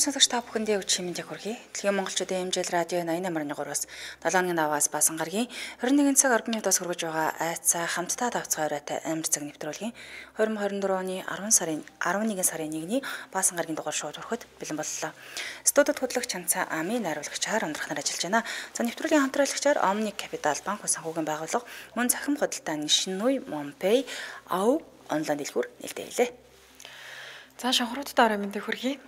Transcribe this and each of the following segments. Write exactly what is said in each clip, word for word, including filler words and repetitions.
сонсогч та бүхэндээ өчигдөр мэндийг хүргэе. Дэлхийн монголчуудын хэмжээл радио восемь tám trois-аас долоо хоногийн даваас баасан гарагийн двадцать один цаг арван минутаас хүргэж байгаа айцаа хамтдаа давцгаараатай амир цаг нэвтрүүлгийн двадцать двадцать оны арван сарын арван нэгэн сарын нэгний баасан гарагийн дугаар шууд өрхөд бэлэн боллоо. Студид хөтлөгч Чанцаа Ами, найруулагчаар өндрөх нар ажиллаж байна. За нэвтрүүлгийн хамтраалагчаар Omni Capital банк санхүүгийн байгууллага мөн захим худалдааны Шинүй Монпэй ав онлайн дэлгүүр нээлттэй. За шанхруудтай орой мэндийг хүргэе.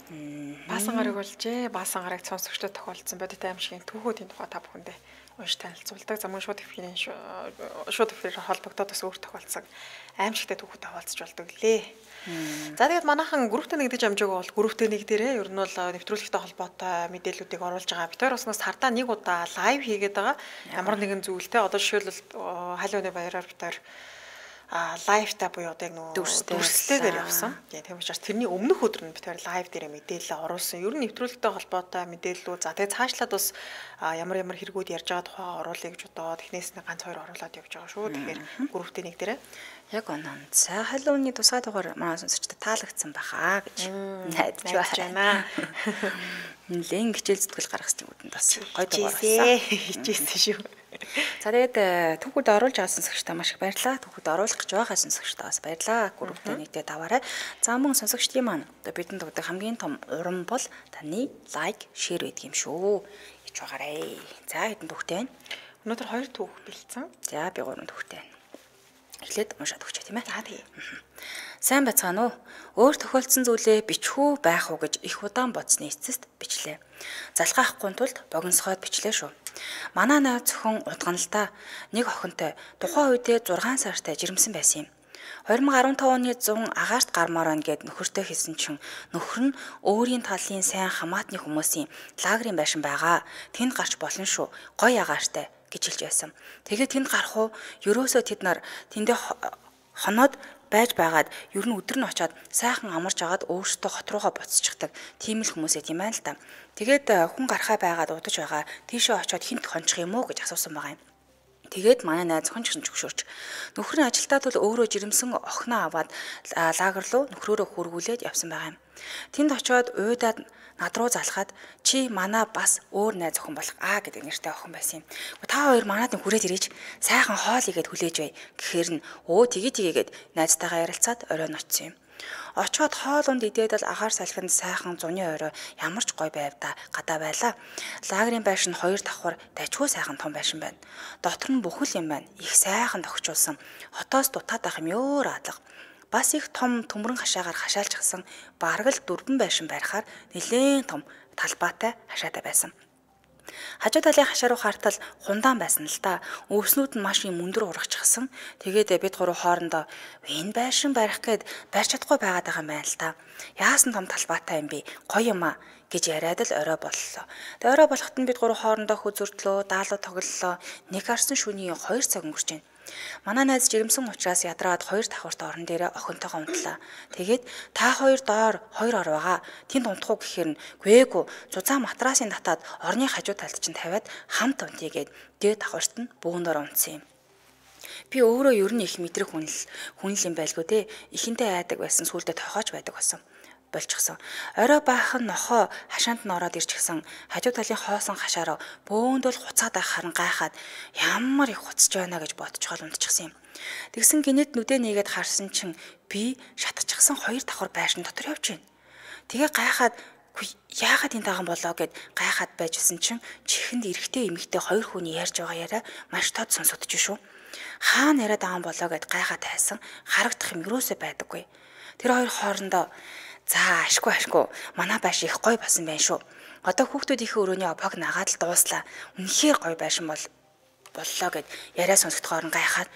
Баасан гараг болжээ. Баасан гараг сонсогчдод тохиолдсон бодит аимшигын түүхүүдийн тухай та бүхэндээ унш танилцуулдаг. За мөн шууд хэвхийний шууд хэвхийгээр холбогдоод бас өөр тохиолдсон аимшигтай түүхүүд хаваалцж болдог лээ. За тэгээд манайхан групптэй нэгдэж амжаагүй бол групптэй нэгдэрээ ер нь бол нэвтрүүлэгтэй холбоотой мэдээллүүдийг оруулж байгаа. Бид хоёр уснаас хардаа нэг удаа лайв хийгээд байгаа. Ямар нэгэн зүйлтэй одоо жишээлбэл халууны баяраар бид хоёр а лайвта буюу одоо яг нөө дүрстэйгээр явсан. Тийм учраас тэрний өмнөх өдөр нь бид хоёр лайв дээр мэдээлэл оруулсан. Ер нь нэвтрүүлэгтэй холбоотой мэдээллүүд. За тэгээ цаашлаад бас ямар ямар хэрэгүүд ярьж байгаа тухай оруулъя гэж бодоод эхнээс нь ганц хоёр оруулаад явж байгаа шүү. Тэгэхээр групптэй нэг дээрээ яг оноо. За халууны тусгай дугаар маа сонсогчдод таалагдсан бахаа гэж найдаж байна. Нэлээд хичээл зүтгэл гаргах юмуд бас гоё дугаар болсон. Хичээсэн шүү. За тэгээд түүхүүд оруулж байгаа сонсогчдаа маш их баярлалаа. Түүхүүд оруулах гэж байгаа сонсогчдаа бас баярлалаа. Групптэй нэгдээ даваарай. За мөн сонсогчдын маань одоо бидэнд өгдөг хамгийн том урам бол таны лайк, шеэр байдаг юм шүү. Ич байгаарай. За хэдэн түүхтэй байна? Өнөөдөр хоёр түүх бэлдсэн. За би гурван түүхтэй байна. Эхлээд уншаад өгч тийм ээ. За тий. Сайн байцгаана уу? Өөр тохиолдсон зүйлээ бичхүү байх уу гэж их удаан бодсны эцэст бичлээ. Залгаахгүй тулд богиносгоод бичлээ шүү. Манай найз зөвхөн удган л та нэг охинтой тухайн үедээ зургаан сартай жирэмсэн байсан юм. двадцать февраль оны зун агаарт гармаар байна гэд нөхөртөө хэлсэн чинь нөхөр нь өөрийн талын сайн хамаатны хүмүүсийн лагерын байшин байгаа. Тэнд гарч болно шүү. Гоё агаартай гэж хэлж байсан. Тэгээд тэнд гарах уу? Ерөөсөө тэд нар тэндээ хоноод байж байгаад ер нь өдөр нь очиод сайхан амарч агаад өөртөө хот руугаа буцчихдаг тийм л хүмүүсээ тийм байна л та. Тэгээд хүн гарахаа байгаад удаж байгаа тийшээ очиод хинт хончих юм уу гэж асуусан байгаа юм. Тэгээд манай найз хон ч гэсэн зөвшөөрч нөхөр нь ажилтаа тул өөрөө жирэмсэн охиноо аваад лагер руу нөхрөөрөө хөргүүлээд явсан байгаа юм. Тэнд очиод уйдаад над руу залхаад чи манай бас өөр найз охин болох аа гэдэг нэртэй охин байсан юм. Та хоёр манад хүрээд ирээч сайхан хоол игээд хүлээж бай гэхээр нь өө тгий тгийгээд найзтайгаа ярилцаад оройн очсон юм. Очоод хоол унд идээд л агаар салхинд сайхан зуны орой ямар ч гоё байв да гадаа байлаа. Лагерын байшин хоёр давхар дажгүй сайхан том байшин байна. Дотор нь бүхэл юм байна. Их сайхан тогтчулсан. Хотоос дутаад ах юм ёор адлага. Бас их том төмрөн хашаагаар хашаалчихсан бараг л дөрвөн байшин барихаар нэлээд том талбайтай хашаатай байсан. Хажуу талын хашаа руу хартал хундаан байсан л да. Өвснүүд нь маш юм өндөр урагчсан. Тэгээд бид гурав хоорондоо энэ байшин барих гээд барьж чадахгүй байгаад байгаа юм байна л да. Яасан том талбайтай юм бэ? Гоё юм аа гэж яриад л орой боллоо. Тэгээд орой болоход нь бид гурав хоорондоо хөзөрдлөө, даалуу тоглолоо. Нэг харсан шөнийн хоёр цаг өнгөрч байна. Манай найз жирэмсэн учраас ядраад хоёр давхарт орон дээрээ охинтойгоо унтлаа. Тэгээд та хоёр доор хоёр ор байгаа. Тэнд унтах уу гэхээр нь гээгүй. Зузаан матрасын татаад орны хажуу талд чинь тавиад хамт унтъя гэд дээд давхарт нь бүүндээр унтсан юм. Би өөрөө ер нь их мэдрэх хүнл хүнл юм байлгүй те. Ихэнтэй айдаг байсан сүулдэ тохиож байдаг болсон. Болчихсон. Орой баахан нохоо хашаанд нь ороод ирчихсэн. Хажуу талын хоосон хашаараа бөөндөл хуцаад байх харан гайхаад ямар их хуцж байна гэж бодчихвол унтчихсан юм. Тэгсэн гинэт нүдэ нээгээд харсан чинь би шатчихсан хоёр давхар байшин дотор явж байна. Тэгээ гайхаад яагаад энэ таган болоо гэд гайхаад байжсэн чинь чихэнд эрэгтэй эмэгтэй хоёр хүний ярьж байгаа яриа маш тод сонсогдож шүү. Хаана яриад байгаа юм болоо гэд гайхаад тайсан харагдах юм юусоо байдаггүй. Тэр хоёр хоорондоо за ашгүй ашгүй манай байш их гоё болсон байх шүү. Одоо хүүхдүүдийнхээ өрөөний опог нагаад л дууслаа. Үнэхээр гоё байшин бол боллоо гэд яриа сонсогдохоор нь гайхаад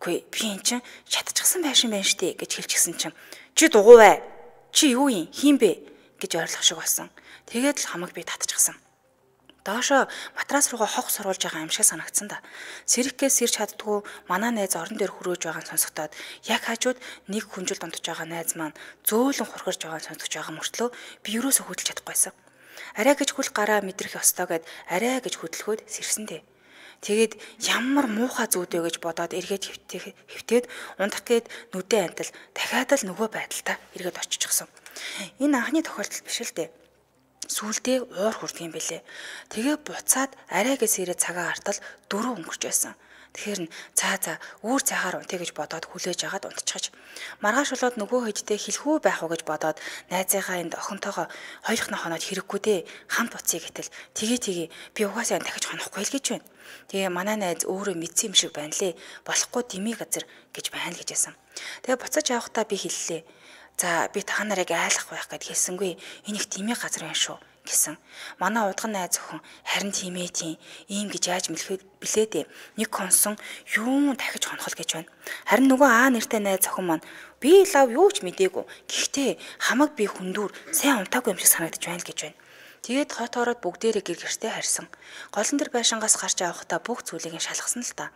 үгүй би эн чин шатчихсан байшин байна штэ гэж хэлчихсэн чинь чи дугуй бай. Чи юу юм хийм бэ гэж ойрлох шиг болсон. Тэгээд л хамаг би татчихсан. Доошо матрас руугаа хог суруулж байгаа юм шиг санагдсан да. Сэрхгээс сэрч чаддгүй манай найз орон дээр хөрөөж байгааг сонсогдоод яг хажууд нэг хүнжил донтож байгаа найз маань зөөлөн хурхирж байгааг сонсогдож байгаа мөртлөө би юусоо хөдөлж чадахгүйсэн. Арай гэж хүл гараа мэдрэх ёстой гэд арай гэж хөдөлгөөд сэрсэн дээ. Тэгээд ямар муухай зүйдэ гэж бодоод эргээд хөвтөөд унтах гээд нүдэн антал дахиад л нөгөө байдалтай эргээд очичихсан. Энэ анхны тохиолдол биш л дээ. Сүүлдээ уур хүрдэг юм бэлээ. Тэгээ буцаад арайгээс ирээд цагаа артал дөрөв өнгөрч байсан. Тэгэхээр цаа цаа үүр цайхаар унтъя гэж бодоод хүлээж агаад унтчихаж маргааш болоод нөгөө хэдтэй хэлхүү байх уу гэж бодоод найзынхаа энд охинтойгоо хоёрхноо хоноод хэрэггүй дээ хамт буцъя гэтэл тгий тгий би угаасаа дахиж хонохгүй л гэж байна. Тэгээ манай найз өөрөө мэдсэн юм шиг байна лээ. Болохгүй дими газар гэж байна гэж байсан. Тэгээ буцаж явахдаа би хэллээ. За би та нарыг айлах байх гэд хэлсэнгүй. Энэ их дими газар байна шүү гэсэн. Манай удган найз охин харин тийм ээ тийм ийм гэж яаж мэлхээ билээ дээ. Нэг консон юу дахиж хонхол гэж байна. Харин нөгөө аа нэртэй найз охин маань би лав юу ч мдээгүй. Гэхдээ хамаг би хүндүр сайн унтаагүй юм шиг санагдаж байна л гэж байна. Тэгээд хот ороод бүгдээрээ гэр гэртээ харьсан. Голон дэр байшингаас гарч авахдаа бүх зүйлийг нь шалгасан л та.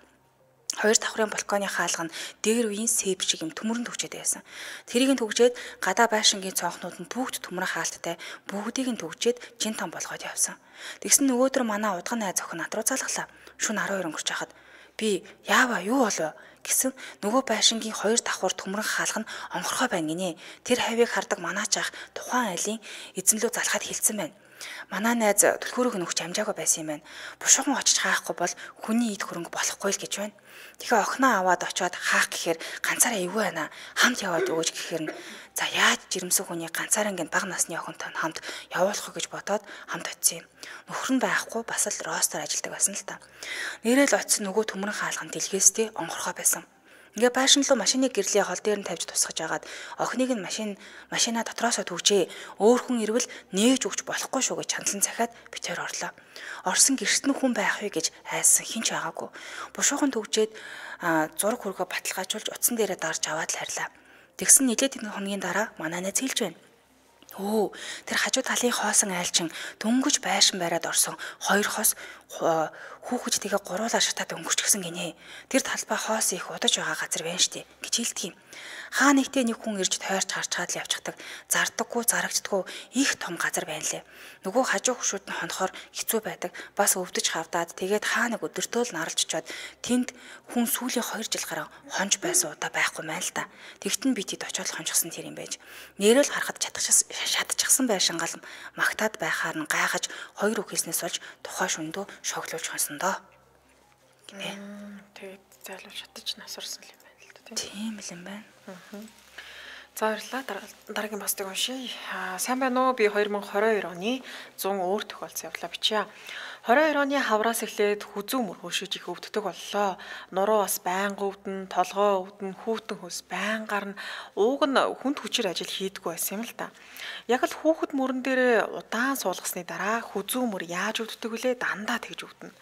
Хоёр давхрын балконы хаалга нь дээр үеийн сэб шиг юм төмөрөнд төгчээд байсан. Тэрийг нь төгжээд гадаа байшингийн цонхнууд нь бүгд төмрөн хаалттай бүгдийг нь төгжээд жин том болгоод явсан. Тэгсэн нөгөөдөр манай удган найз охин над руу залглаа. Шөнө арван хоёр өнгөрч хахад би яава юу болов гэсэн нөгөө байшингийн хоёр давхар төмрөн хаалга нь онгорхой байна гинэ. Тэр хавийг хардаг манаач ах тухайн айлын эзэнлөө залхаад хэлсэн байна. Манай найз түлхүүрийг нөхч амжаагүй байсан юм байна. Бушуухан очиж хаахгүй бол хүний эд хөрөнгө болохгүй л гэж байна. Тэгэхээр охиноо аваад очиод хаах гэхээр ганцаараа эвгүй байна. Хамт яваад өгөөж гэхээр нь за яаж жирэмсэн хүний ганцаараа ингэ бага насны охинтой хамт явуулах гэж бодоод хамт очив юм. Нөхөр нь байхгүй бас л ростер ажилладаг байсан л та. Нэрэл очисон нөгөө төмрөн хаалган дэлгээстэй онгорхой байсан. Ингээ байшин руу машиныг гэрлийн хол дээр нь тавьж тусгаж агаад охиныг нь машин машина дотроосоо түгжээ. Өөр хүн ирвэл нээж өгч болохгүй шүү гэж чандлан захиад битээр орлоо. Орсон гэрт нь хүн байх вэ гэж айсан хинч байгаагүй. Бушуухан түгжээд зураг хөргөө баталгаажуулж утсан дээрээ дарж аваад л харьлаа. Тэгсэн нэлээд хэдэн хоногийн дараа манай найз хэлж байна. Өө тэр хажуу талын хоосон айлчин дөнгөж байшин бариад орсон хоёр хос хүүхэд тэгээ гуруулаа шатаад өнгөрчихсөн гинэ. Тэр талбай хоос их удаж байгаа газар байна штэ гэж хэлдэг юм. Хаа нэгтээ нэг хүн ирж тойрч харчаад л явчихдаг. Зардаггүй, зарагддаггүй их том газар байна лээ. Нөгөө хажуу хөшүүд нь хонохоор хэцүү байдаг. Бас өвдөж хавдаад тэгээд хаа нэг өдөртөө л наралж очиод тэнд хүн сүүлийн хоёр жил гараа хонж байсан удаа байхгүй мэн л та. Тэгтэн би тэд очиод хонжсон тэр юм байж. Нэрэл харахад чадчихсан шатчихсан байшингаал магтаад байхаар нь гайхаж хоёр үхээснээс болж тухай шөндөө шоглуулж хонсон доо. Гинэ. Тэгээд зайлуу шатаж насварсан юм байна л да тийм л юм байна. За баярлалаа. Дараагийн постыг уншия. Сайн байна уу? Би хоёр мың хорин хоёр оны зун өөр тохиолдсон явдлаа бичье. хорин хоёр оны хавраас эхлээд хүзүү мөр хөөшөж их өвддөг боллоо. Нуруу бас байнга өвдөн, толгоо өвдөн, хүүтэн хөлс байн гарна. Ууг нь хүнд хүчээр ажил хийдэггүй байсан юм л та. Яг л хүүхэд мөрөн дээр удаан суулгасны дараа хүзүү мөр яаж өвддөг вүлээ? Дандаа тэгж өвдөнө.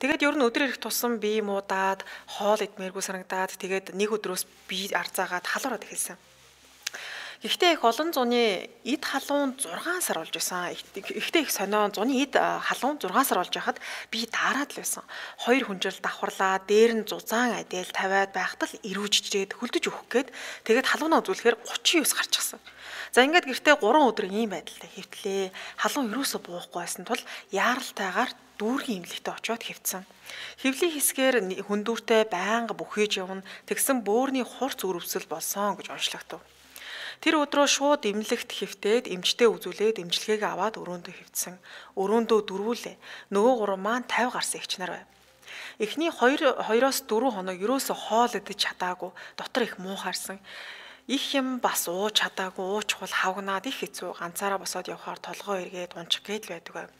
Тэгээд ер нь өдөр ирэх тусам бие муудаад, хоол идмээргүй санагдаад тэгээд нэг өдрөөс бие арзаагаад халуураад эхэлсэн. Гэхдээ их олон зуны эд халуун зургаан сар болж байсан. Ихтэй их сонио зуны эд халуун зургаан сар болж байхад би даарад л байсан. Хоёр хүнжил давхарлаа, дээр нь зузаан адил тавиад байхад л ирүүжжээд хөлдөж өгөх гээд тэгээд халуунаа үзүүлэхээр гучин девс гарчихсан. За ингээд гэртээ гурван өдөр ийм байдалтай хэвтлээ. Халуун юусоо буухгүй байсан тул яаралтайгаар дүүргийн имлэгтээ очиод хэвтсэн. Хэвлийн хэсгээр хөндүүртэй байнга бүхэж явна. Тэгсэн бөөрийн хурц өрөвсөл болсон гэж онцлогдов. Тэр өдрөө шууд имлэгт хэвтээд эмчтэй үзүүлээд эмчилгээгээ аваад өрөөндөө хэвтсэн. Өрөөндөө дөрвүүлээ. Нөгөө гурван маань тавь гарсан эгч нар байв. Эхний хоёр хоёроос дөрвөн хоног ерөөсө хоол идэж чадаагүй. Дотор их муухаарсан. Их юм бас ууж чадаагүй, ууч хул хавгнаад их хэцүү. Ганцаараа босоод явхаар толгоо эргээд унчих гээд л байдаг байв.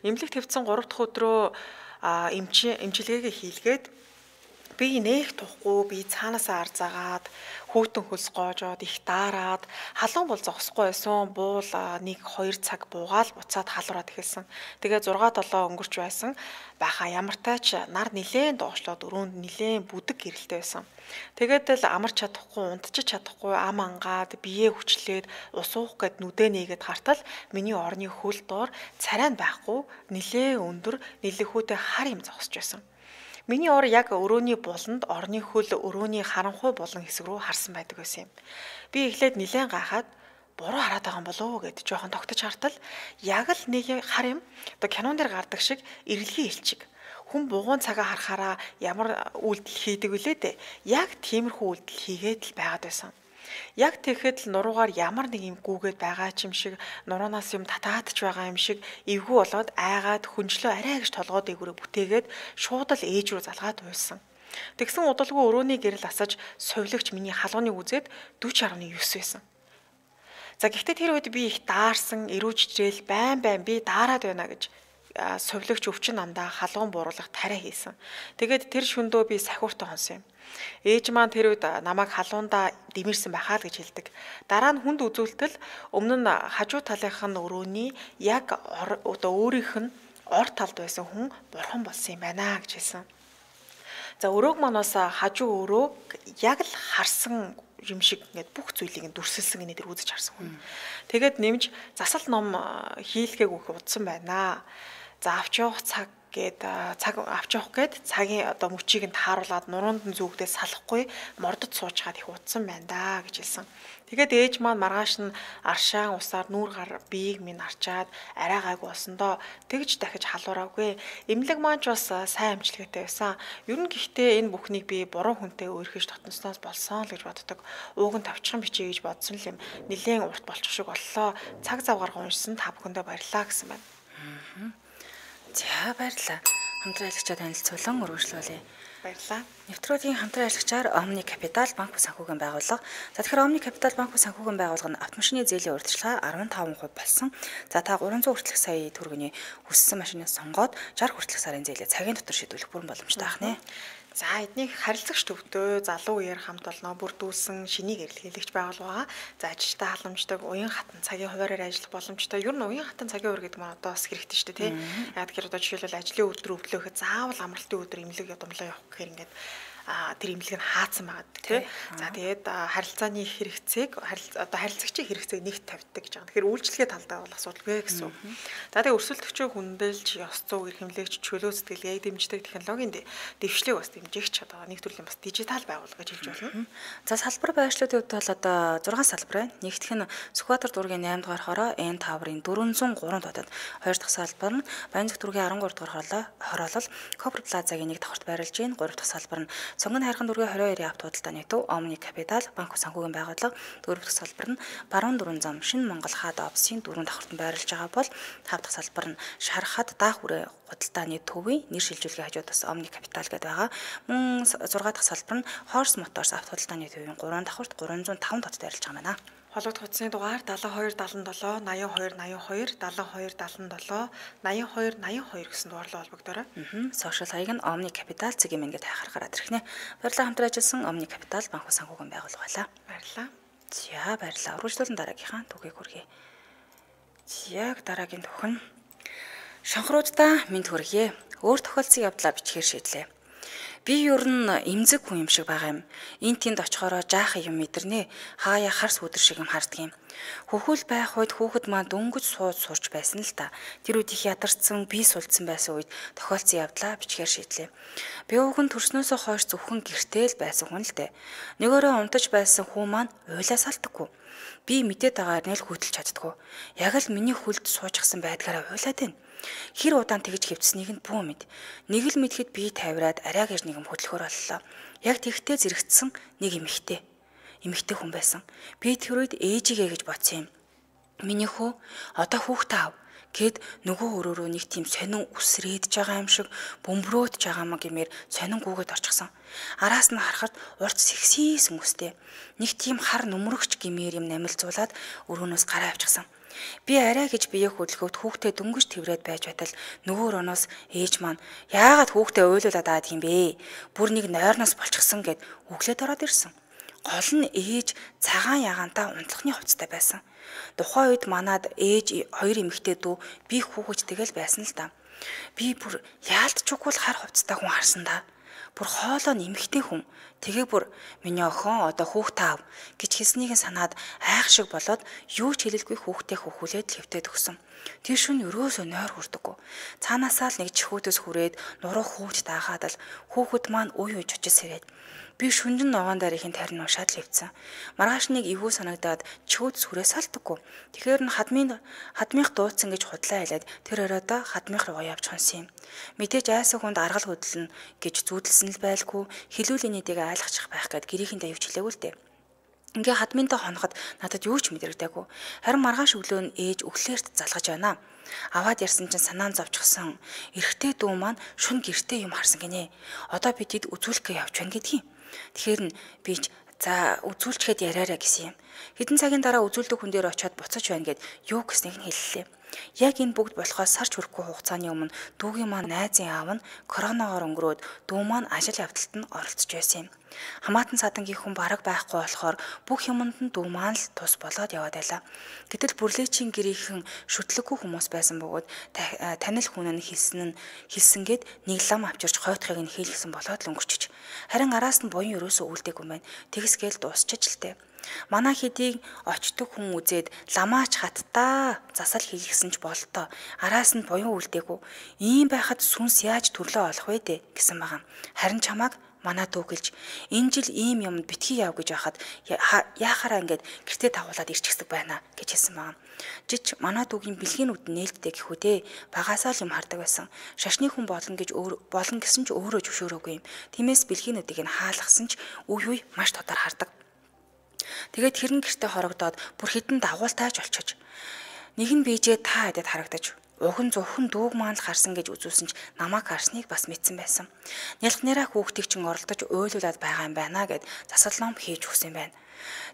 Имлэгт хэвтсэн гурав дахь өдрөө эмч эмчилгээгээ хийлгээд би нээх тухгүй, би цаанаасаа арзаагаад хүүтэн хөлс гоожоод их даарад халуун бол зогсохгүй байсан. Буул нэг хоёр цаг буугаал буцаад халуураад эхэлсэн. Тэгээ зургаа долоо өнгөрч байсан. Баха ямартай ч нар нилээн доошлоод өрөөнд нилээн бүдэг гэрэлтэй байсан. Тэгээд л амарч чадахгүй, унтчих чадахгүй, ам ангаад бие хүчлээд ус уух гэд нүдэ нээгээд хартал миний орны хөл доор царай байхгүй, нилээн өндөр нэлэхүүтэй хар юм зогсож байсан. Миний ор яг өрөөний буланд орны хөл өрөөний харанхуй булан хэсэг рүү харсан байдаг байсан юм. Би эхлээд нилээн гайхаад буруу хараад байгаа юм болов уу гэд жоохон тогтож хартал яг л нэг хар юм. Одоо кинон дээр гардаг шиг эргэлгийн элчиг. Хүн бугуун цагаа харахаараа ямар үйлдэл хийдэг вүлээ дээ. Яг тиймэрхүү үйлдэл хийгээд л байгаад байсан. Яг тэгэхэд л нуруугаар ямар нэг юм гүүгээд байгаа ч юм шиг, нуруунаас юм татаадч байгаа юм шиг эвгүй болоод айгаад хүнжлөө арай гэж толгой дээгүүрээ бүтээгээд шууд л ээж рүү залгаад уйлсан. Тэгсэн удалгүй өрөөний гэрэл асаж сувилагч миний халууныг үзээд дөрвөн гаруй девять байсан. За гэхдээ тэр үед би их даарсан, эрүүжжээл байн байн би даарад байна гэж сувилагч өвчин намдаа халуун бууруулах тариа хийсэн. Тэгээд тэр шөндөө би сахиуртай хонсон юм. Ээж маань тэр үед намайг халуундаа дэмэрсэн байхаа л гэж хэлдэг. Дараа нь хүнд үзүүлтэл өмнө нь хажуу талынх нь өрөөний яг одоо өөрийнх нь ор талд байсан хүн бурхан болсон юм байна гэж хэлсэн. За өрөөг манаас хажуу өрөөг яг л харсан юм шиг ингээд бүх зүйлийг дүрсэлсэн гэнэ тэр үзэж харсан хүн. Тэгээд нэмж засал ном хийлгээг өгөх удсан байна. За авч явах цаг гээд цаг авч явах гээд цагийн одоо мөчийг нь тааруулаад нуруунд нь зүгдээ салахгүй мордод суучгаад их утсан байна да гэж хэлсэн. Тэгээд ээж маань маргааш нь аршаан усаар нүүр гар биеийг минь арчаад арай гайг болсондоо тэгж дахиж халуураагүй. Эмнэлэг маань ч бас сайн амжилттай байсан. Ер нь гэхдээ энэ бүхнийг би буруу хүнтэй өөрхөж дотносноос болсон л гэж боддог. Ууг нь тавчхан бичиж гэж бодсон л юм. Нилээн урт болчих шиг боллоо. Цаг зав гарга уншсан та бүхэндээ баярлалаа гэсэн байна. За баярлалаа. Хамтран аялагчаа танилцуулан өргөжлүүлье. Баярлалаа. Нэвтрүүлгийн хамтран аялагчаар Omni Capital банк ба санхүүгийн байгууллага. За тэгэхээр Omni Capital банк ба санхүүгийн байгууллага нь автомашины зээлийн урьдчилгаа арван таван хувь болсон. За та гурван зуун хүртэлх сая төгрөгийн хүссэн машиныг сонгоод шарх хүртэлх сарын зээлээ цагийн дотор шийдвэрлэх бүрэн боломжтой байна. За эднийг харилцагч төвдөө залуу үеэр хамт олноо бүрдүүлсэн шинийг эрэлхийлэгч байгууллага. За ажилтаа халамжтай уян хатан цагийн хуваараар ажиллах боломжтой. Ер нь уян хатан цагийн хуваар гэдэг нь одоо бас хэрэгтэй шүү дээ, тий. Яг тэгэхээр одоо жишээлбэл ажлын өдөр өвдлөөхөд заавал амралтын өдөр имлэг ядамлаа явах гэхээр ингээд а тэр имлэг нь хаацсан байгаа тий. За тэгээд харилцааны хэрэгцээг одоо харилцагчийн хэрэгцээг нэгт тавьдаг гэж байгаа. Тэгэхээр үйлчлэгээ талдаа бол асуудалгүй гэсэн. За тэгээд өрсөлдөгчөө хүндэлж, ёс зүй, эрхэмлэгч, чөлөө сэтгэлгээг дэмждэг технологийн дэвшлиг бас дэмжигч одоо нэг төрлийн бас дижитал байгууллага гэж хэлж болно. За салбар байршлуудын хувьд бол одоо зургаан салбар байна. Нэгдүгээр нь Сүхбаатар дүүргийн наймд дугаар хороо Н таврын дөрвөнзуун гурван дотоод, хоёр дахь салбар нь Баянзүх дүүргийн арван гурав дугаар хороолол Кобра плазагийн нэг давхарт байрлаж байна. гурав дахь салбар нь Сонгон хайрхан дүүргийн двадцать двуурын авто худалдааны төв Omni Capital банк санхүүгийн байгууллага. дөрөв дахь салбар нь Баруун дөрвөн зам Шинэ Монгол хаад офисын дөрвөн давхарт байрлаж байгаа бол тав дахь салбар нь Шархад даах хүрээ худалдааны төвийн нэр шилжүүлгийн хажууд бас Omni Capital гэдэг байгаа. Мөн зургаа дахь салбар нь Horse Motors авто худалдааны төвийн гурван давхарт гурван зуун таван дотод байрлаж байгаа юм байна. Хологд хуудасны дугаар дадлага хоёр дадлан долоо ноён хоёр ноён хоёр дадлага хоёр дадлан долоо ноён хоёр ноён хоёр гэсэн дугаарлал холбогдорой. Аа. Сошиал хаяг нь Omni Capital цэгийн мэн гэдэг хайхаар гараад ирэх нэ. Баярлалаа хамтран ажилласан Omni Capital банк санхүүгийн байгууллага байлаа. Баярлалаа. За баярлалаа. Урагшлуулан дараагийнхаа түүхийг хүргэе. Яг дараагийн түүх нь шанхруудаа мэд хүргэе. Өөр тохиолдсон явдлаа бичгээр шийдлээ. Би ер нь эмзэг хүн юм шиг байгаа юм. Энд тэнд очихороо жаахан юм мэдэрнэ. Хаяа харс өдөр шиг юм харддаг юм. Хөвхөл байх үед хүүхэд маань дөнгөж сууж сурч байсан л та. Тэр үед их ядарсан, бие сулдсан байсан үед тохиолдсон явдлаа бичгээр шийдлээ. Би ууган төрснөөсөө хойш зөвхөн гэртэл байсан хүн л дээ. Нөгөөрөө унтаж байсан хүн маань уйлаа салтдаггүй. Би мэдээд байгаагаар нэл хөдөлж чаддгүй. Яг л миний хүлд суужчихсан байдгаараа уйлаад байна. Хэр удаан тэгж хөвцснийг нь бүү мэд. Нэг л мэдхэд би тавираад арай гэж нэгэн хөдөлгөөр боллоо. Яг тэгтээ зэрэгцсэн нэг эмэгтэй. Эмэгтэй хүн байсан. Би тэр үед ээжигээ гэж бодсон юм. Миний хүү одоо хүүхдээ ав гэд нөгөө өрөөрөө нэг тийм сонин үсрээдж байгаа юм шиг бөмбөрөөдж байгаа маа гэмээр сонин гүгээд орчихсон. Араас нь харахад урт сэгсийсэн үстэй. Нэг тийм хар нүмерэгч гэмээр юм намилцуулаад өрөөнөөс гараа авчихсан. Би арай гэж бие хөдөлгөөд хүүхдээ дөнгөж тэврээд байж байтал нөгөө оноос ээж маань яагаад хүүхдээ уйлуулад аваад юм бэ? Бүр нэг нойрноос болчихсон гэд өглөөд ороод ирсэн. Гол нь ээж цагаан ягаантаа унтлахны хувцастай байсан. Тухайн үед манад ээж хоёр эмэгтэй дүү би хүүхэд тэгэл байсан л да. Би бүр яалтчгүй л хар хувцастай хүн харсан да. Бүр хоолоо нэмэгтэй хүн. Тэгээ бүр миний охин одоо хүүхдээ ав гэж хэлснийг санаад айх шиг болоод юу ч хэлэлгүй хүүхдээ хөхүүлээд левтээд өгсөн. Тэр шүн өрөөсөө нойр хүрдэггүй. Цаанаасаа л нэг чихүүдээс хүрээд нуруу хүүхд даахад л хүүхэд маань үе үе чочис сэрээд би шүнжин ногоон дараагийн тарин уншаад левцсэн. Маргааш нэг эвгүй санагдаад чихүүд сүрээ салтдаггүй. Тэгэхээр нь хадмын хадмынх дуудсан гэж худлаа хэлээд тэр оройдоо хадмынх руу явж хонсон юм. Мэдээж айсаа хүнд аргал хөдлөн гэж зүүдэлсэн л байлгүй. Хилүүлийн нэдийг айлгахчих байх гэд гэрийнхэндээ явж хэлээгүй л дээ. Ингээ хадминтай хоноход надад юу ч мэдрэгдээгүй. Харин маргааш өглөө нь ээж өглөөрт залгаж байна. Аваад ярьсан чинь санаан зовчихсон. Эрэгтэй дүү маань шүн гэртээ юм харсан гинэ. Одоо би тэд үзүүлэхээ явж байна гэдгийг. Тэгэхээр нь би ч за үзүүлчихэд яриараа гэсэн юм. Хэдэн цагийн дараа үзүүлдэг хүн дээр очиод буцаж байна гэд юу гэснийг нь хэллээ. Яг энэ бүгд болохоос сарч хүрэхгүй хугацааны өмнө дүүгийн маань найзын аав нь коронавигоор өнгөрөөд дүү маань ажил явдалт нь оролцож байсан юм. Хамаатан садангийн хүн бараг байхгүй болохоор бүх юмд нь дүү маань л тус болоод яваад байлаа. Гэтэл бүрлээчийн гэрийнхэн шүтлэггүй хүмүүс байсан бөгөөд танил хүн нь хэлсэн нь хэлсэнгээд нэг лам авчирч хойтхыг нь хийлгсэн болоод л өнгөрчиж. Харин араас нь буян ерөөсөө үлдээгүй байна. Тэгсгээл дуусчих л тээ. Манай хэдийг очдог хүн үзээд ламаач хаттаа засал хийлгсэн ч болтоо араас нь буян үлдээгүй. Ийм байхад сүнс яаж төрлөө олох вэ дээ гэсэн байгаа. Харин чамааг манай дүүгэлж энэ жил ийм юмд битгий яв гэж байхад яахаараа ингээд гэртээ тавуулаад ирчихдэг байна гэж хэлсэн байгаа. Жич манай дүүгийн бэлгийнүүд нээлттэй гэхүү дээ. Багасаа л юм хардаг байсан. Шашны хүн болно гэж болно гэсэн ч өөрөө зөвшөөрөөгүй юм. Тиймээс бэлгийнүүдийг нь хаалгасан ч үе үе маш тодар хардаг. Тэгээд хэрэн гэртээ хорогдоод бүр хідэн дагуултайж олчиж. Нэг нь бийжээ та хэдэд харагдаж уган зөвхөн дүүг маань л харсан гэж үзүүлсэн ч намайг харсныг бас мэдсэн байсан. Нялхнараа хүүхдийг чинь оролдож уйлуулад байгаа юм байна гэд засал ном хийж өгсөн байна.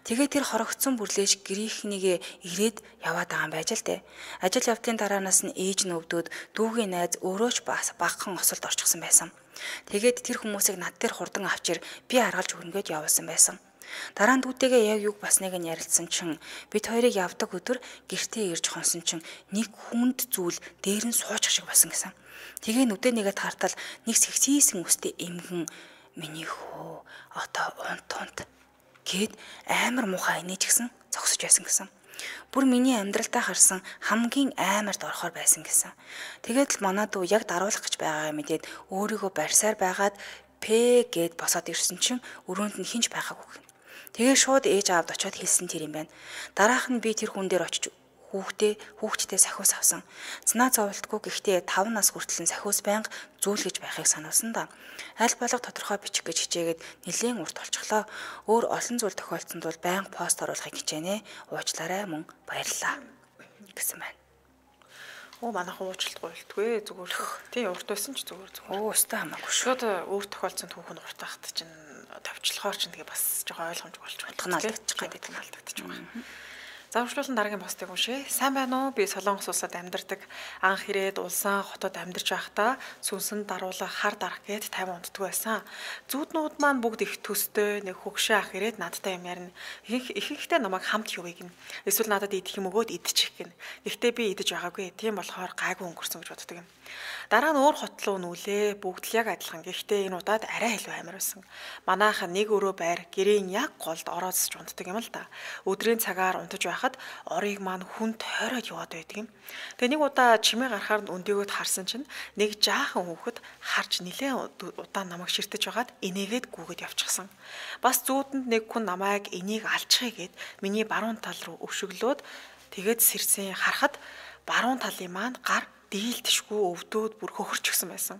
Тэгээд тэр хорогдсон бүрлээж гэрийнхнийгээ ирээд яваад байгаа юм байж л дээ. Ажил явдлын дараанаас нь ээж нь өвдөөд дүүгийн найз өөрөө ч багахан осолд орчихсон байсан. Тэгээд тэр хүмүүсийг над дээр хурдан авчир би аргалж өгнөгээд явуулсан байсан. Дараа нь дүүтэйгээ яг юг басныг нь ярилцсан чинь бид хоёрыг явдаг өдөр гэртээ ирж хонсон чинь нэг хүнд зүйл дээр нь суучих шиг басан гэсэн. Тэгээ нүдэ нэгэд хартал нэг сэгсийсэн үстэй эмгэн миний хөө одоо унт унт гэд амар муухай инеж гисэн зогсож байсан гэсэн. Бүр миний амьдралтаа харсан хамгийн аймарт орохоор байсан гэсэн. Тэгээд л манай дүү яг даруулах гэж байгаа юм мэдээд өөрийгөө барьсаар байгаад П гэд босоод ирсэн чинь өрөөнд нь хинж байгаагүй. Тэгээ шууд ээж аавд очиод хэлсэн тэр юм байна. Дараах нь би тэр хүн дээр очиж хүүхдээ хүүхдтэй сахиус авсан. Цанаа зовлтгүй гэхдээ таван нас хүртэл сахиус байнга зүүлгэж байхыг сануулсан да. Аль болох тодорхой бичих гэж хичээгээд нэлийн урт болчихлоо. Өөр олон зүйл тохиолдсонд бол байнга пост оруулахыг хичээнэ. Уучлаарай мөн баярлаа гэсэн байна. Оо манайх уучлалтгүй болтгүй зүгээр. Тийм урт байсан ч зүгээр зүгээр. Оо өстой хамаагүй шүү. Шууд өөр тохиолдсон түүхэн урт байхад чинь товчлохоор чинь тэгээ бас жоохон ойлгомж болж байна. Тохиолдчих гэдэг нь алдагдчих байгаа. За үргэлжлүүлэн дараагийн постыг уншъя. Сайн байна уу? Би Солонгос улсад амьдардаг. Анх ирээд улсаа хотод амьдарч байхдаа сүнсэнд даруулах хар дарах гээд тайван унтдаг байсан. Зүүднүүд маань бүгд их төстэй, нэг хөгшөө ах ирээд надтай юм ярина. Их ихэнхдээ намайг хамт явъя гин. Эсвэл надад идэх юм өгөөд идчих гин. Гэхдээ би идэж байгаагүй. Тийм болохоор гайгүй өнгөрсөн гэж боддог юм. Дараа нь өөр хот руу нүүлээ. Бүгд л яг адилхан. Гэхдээ энэ удаад арай илүү амар байсан. Манайхан нэг өрөө байр гэрийн яг голд ороосч унтдаг юм л да. Өдрийн цагаар унтаж байхад орыг маань хүн тойроод яваад байдаг юм. Тэгээ нэг удаа чимээ гарахаар өндөгөөд харсан чинь нэг жаахан хүүхэд харж нилээн удаан намайг ширтэж байгаад инээгээд гүгээд явчихсан. Бас зүүдэнд нэг хүн намайг энийг алчихъя гэд миний баруун тал руу өвшөглөөд тэгээд сэрсэн харахад баруун талын маань гар дийлдэшгүй өвдөөд бүр хөхөрч гисэн байсан.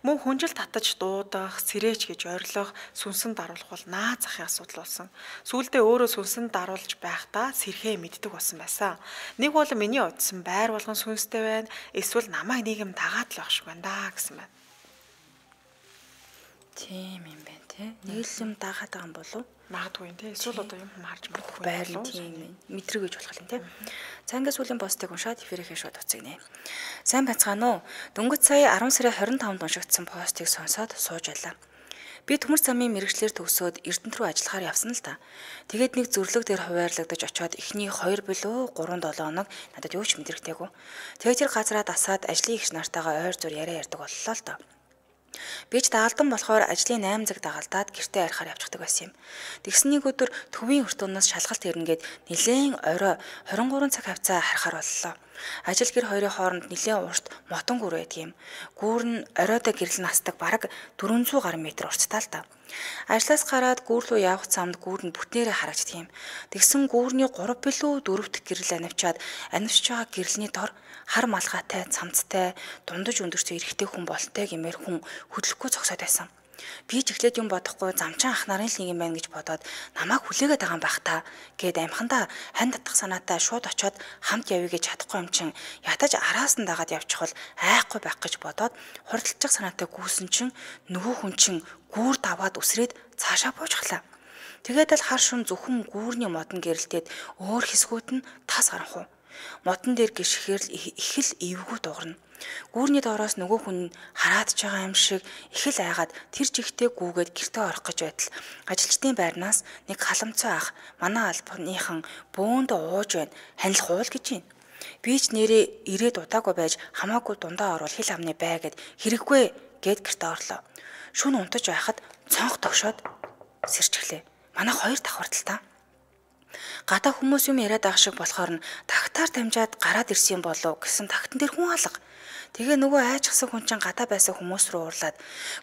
Мөн хүнжил татаж дуудах, сэрээч гэж ойрлох, сүнсэн даруулах бол наа захын асуудал болсон. Сүүлдээ өөрөө сүнсэн даруулж байхдаа сэрхээ мэддэг болсон байсан. Нэг бол миний удсан байр болгон сүнстэй байна, эсвэл намайг нийгэм дагаад л байх шиг байна да гэсэн байна. Тийм юм байна те. Нэг л юм дагаад байгаа юм болов? Магадгүй те. Эсвэл одоо юм харж магадгүй байр нь тийм мэдрэг гэж болох юм те. Цангас сүлийн постыг уншаад эфирийнхээ шууд уцгнэ. Сайн бацгаана уу? Дөнгөж сая арван сарын хорин таванд уншигдсан постыг сонсоод сууж байлаа. Би төмөр замын мэрэгчлэр төгсөөд Эрдэнэт рүү ажиллахаар явсан л та. Тэгээд нэг зөвлөг дээр хуваарлагдаж очиод эхний хоёр билүү гурван долоо хоног надад юу ч мэдрэгдээгүй. Тэгээд тэр газараа дасаад ажлын ихч нартайгаа ойр зур яриа ярьдаг боллоо л та. Би ч даалдан болохоор ажлын восемь цаг дагалдаад гэртээ арихаар явчихдаг байсан юм. Тэгсэн нэг өдөр төвийн өртөөнөөс шалгалт ирнэгээд нилээн орой хорин гурван цаг хавцаа харахаар боллоо. Ажил гэр хоёрын хооронд нилээн урт мотон гүр байдаг юм. Гүүр нь оройдоо гэрэл настаг бараг дөрвөнзүү гаруй метр урттай л та. Ажлаас гараад гүүр рүү явах замд гүүр нь бүтнээрээ харагддаг юм. Тэгсэн гүүрний гурав билүү дөрөвт гэрэл анивчаад анивч байгаа гэрэлний дор хар малгайтай, цамцтай, дундаж өндөрцөө эрэгтэй хүн болтой гэмээр хүн хөдлөхгүй зогсоод байсан. Би ч эхлээд юм бодохгүй замчин ах нарын л нэг юм байна гэж бодоод намайг хүлээгээд байгаа юм байх та гэд амхандаа хань татах санаатай шууд очиод хамт явъя гэж чадахгүй юм чин ятаж араас нь дагаад явчихвал айхгүй байх гэж бодоод хурдалчих санаатай гүйсэн чин нөгөө хүн чин гүүр даваад үсрээд цаашаа буужглаа. Тэгээд л хар шун зөвхөн гүүрний модон гэрэлтээд өөр хэсгүүд нь тас харанхуу. Модон дээр гიშгээр л их л эвгүй дуурна. Гүүрний доороос нөгөө хүн хараад ч байгаа юм шиг их л айгаад тэр жигтэй гүүгээд гэртээ орох гэж байтал ажилчдын байрнаас нэг халамцой ах манай албаныхан бөөнд ууж байна. Ханил хуул гэж юм. Би ч нэрээ ирээд удаагүй байж хамаагүй дундаа орвол хил амны бай гэд хэрэггүй гэд гэртээ орлоо. Шүн унтаж байхад цонх тогшоод сэрчглээ. Манай хоёр давхартал та. Гадаа хүмүүс юм яриад байгаа шиг болохоор нь тагтаар дамжаад гараад ирсэн болов гэсэн тагтан дээр хүн алга. Тэгээ нөгөө айчгсан хүн чинь гадаа байсан хүмүүс рүү уурлаад